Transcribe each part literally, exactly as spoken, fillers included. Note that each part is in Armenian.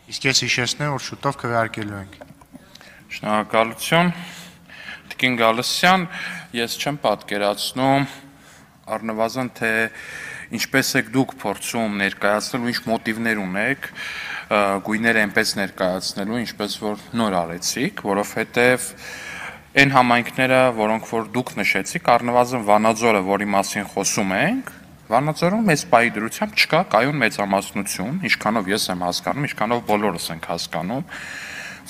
Իսկ ես հիշեցնեմ, որ շուտով քվեարկելու ենք։ Շնորհակալություն, Տիկին Գալստյան, ես չեմ պատկերացնում առնվազն թե ինչպես եք դուք փորձում ներկայացնել ու ինչ մոտիվներ ունեք գույները այնպես ներկայացնելու, ինչպես որ նոր արեցիք, որովհետև այն համայնքները, որոնք որ դուք նշեցիք, առնվազն Վանաձորը, որի մասին խոսում ենք, Վանաձորում մեծ պայի դրությամբ չկա կայուն մեծամասնություն, ինչքանով ես եմ հասկանում, ինչքանով բոլորս ենք հասկանում,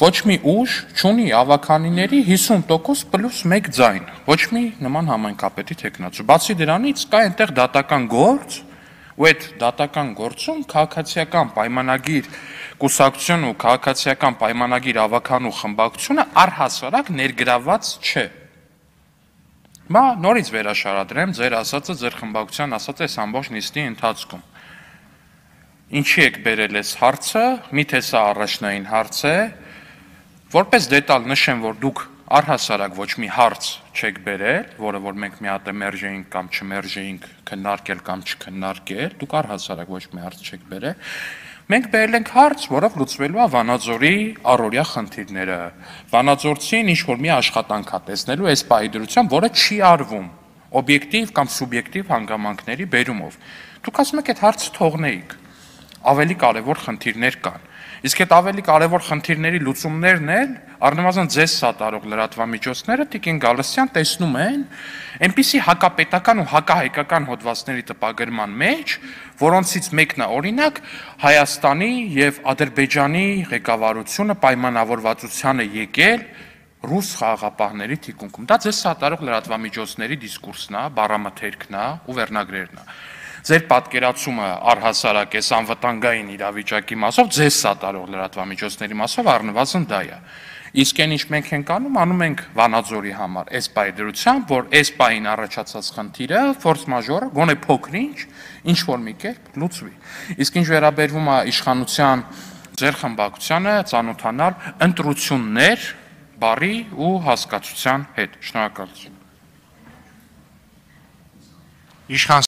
ոչ մի ուժ չունի ավականիների հիսուն տոկոս պլյուս մեկ ձայն, ոչ մի նման համայնքապետի թեկնածու։ Բացի դրանից կա այնտեղ դատական գործ, ու այդ դատական գործում քաղաքացիական պայմանագիր կուսակցություն ու քաղաքացիական պայմանագիր ավականու խմբակցությունը առհասարակ ներգրավված չէ։ Մա նորից վերաշարադրեմ ձեր ասածը, ձեր խմբակցության ասածը այս ամբողջ նիստի ընթացքում։ Ինչի եք բերել այս հարցը, միթե սա առաջնային հարց է, որպես դետալ նշեմ, որ դուք առհասարակ ոչ մի հարց չեք բերել, որը որ մենք մի հատ մերժեինք կամ չմերժեինք, քննարկել կամ չքննարկել, դուք առհասարակ ոչ մի հարց չեք բերել։ Մենք բերել ենք հարց, որով լուծվելու է Վանաձորի առօրյա խնդիրները։ Վանաձորցին ինչ-որ մի աշխատանք է տեսնելու այս պահի դրությամբ, որը չի արվում օբյեկտիվ կամ սուբյեկտիվ հանգամանքների բերումով։ Դուք ասում եք այդ հարցը թողնեիք։ Ավելի կարևոր խնդիրներ կան։ Իսկ այդ ավելի կարևոր խնդիրների լուծումներն էլ առնվազն ձեզ սատարող լրատվամիջոցները Տիկին Գալստյան տեսնում են այնպիսի հակապետական ու հակահայկական հոդվածների տպագրման մեջ, որոնցից մեկն է օրինակ Հայաստանի եւ Ադրբեջանի ղեկավարությունը պայմանավորվածության է եկել ռուս խաղաղապահների թիկունքում։ Դա ձեզ սատարող լրատվամիջոցների դիսկուրսն է, բառամթերքն է ու վերնագրերն է։ Ձեր պատկերացումը առհասարակ այս անվտանգային իրավիճակի մասով, ձեզ սատարող լրատվամիջոցների մասով առնվազն դա է։ Իսկ այն ինչ մենք ենք անում, անում ենք Վանաձորի համար այս պահի դրությամբ, որ այս պահին առաջացած խնդիրը ֆորս մաժորը գոնե փոքր-ինչ ինչ որ մի կերպ լուծվի։ Իսկ ինչ վերաբերվում է իշխանության ձեր խմբակցությանը, ծանոթանալ ընտրություններ բարի ու հասկացության հետ։ Շնորհակալություն։ Իշխան